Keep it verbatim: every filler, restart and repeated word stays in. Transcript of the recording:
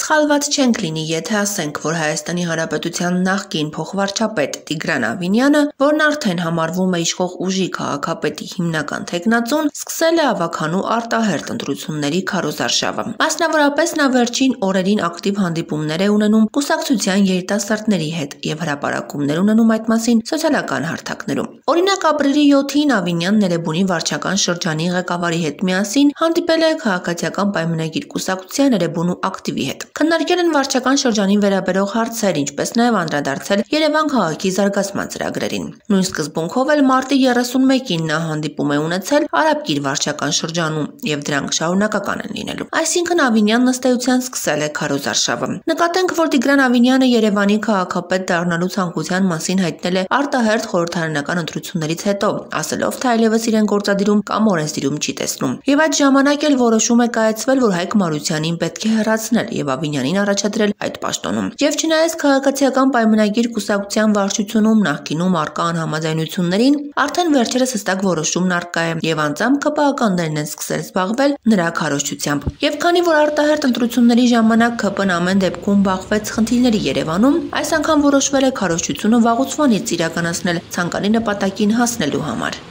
Սխալված չենք լինի, եթե ասենք, որ Հայաստանի Հանրապետության նախկին փոխվարչապետ Տիգրան Ավինյանը, որն արդեն համարվում է իշխող ուժի քաղաքապետի հիմնական թեկնածուն, սկսել է ավագանու արտահերթ ընտրությունների քարոզարշավը։ Մասնավորապես նա վերջին օրերին ակտիվ հանդիպումներ է ունենում կուսակցության երիտասարդների հետ եւ հրապարակումներ ունենում այդ մասին սոցիալական հարթակներում։ Օրինակ, ապրիլի յոթին Ավինյանն Էրեբունի վարչական շրջանի ղեկավարի հետ միասին հանդիպել է քաղաքացիական պայմանագիր կուսակցության Էրեբունու ակտիվի հետ։ Քննարկել են վարչական շրջանին վերաբերող հարցեր, ինչպես նաև անդրադարձել Երևան քաղաքի զարգացման ծրագրերին։ Նույն սկզբունքով էլ մարտի երեսունմեկին նա հանդիպում է ունեցել Արաբկիր վարչական շրջանում եւ դրանք շարունակական են լինելու։ Այսինքն Ավինյանն ըստ էության սկսել է քարոզարշավը։ Նկատենք, որ Տիգրան Ավինյանը Երևանի քաղաքապետ դառնալու ցանկության մասին հայտնել է արտահերթ խորհրդարանական ընտրություններից հետո, ասելով, թե այլևս իրեն գործադիրում կամ օրենսդիրում չի տեսնում։ Եվ այդ ժամանակ էլ որոշում է կայացվել, որ Հայկ Մարությանին պետք է հեռացնել եւ Ավինյանին առաջադրել այդ պաշտոնում։ Եվ չնայած քաղաքացիական պայմանագիր կուսակցության վարչությունում նախկինում առկա անհամաձայնություններին, արդեն վերջերս հստակ որոշումն առկա է եւ անձամբ ԿՊԱ-ականներն են սկսել զբաղվել նրա քարոզչությամբ։ Եվ քանի որ արտահերթ ընտրությունների ժամանակ ԿՊ-ն ամեն դեպքում բախվեց խնդիրների Երևանում, այս անգամ որոշվել է քարոզչությունը վաղուց վանից իրականացնել ցանկալի նպատակին հասնելու համար։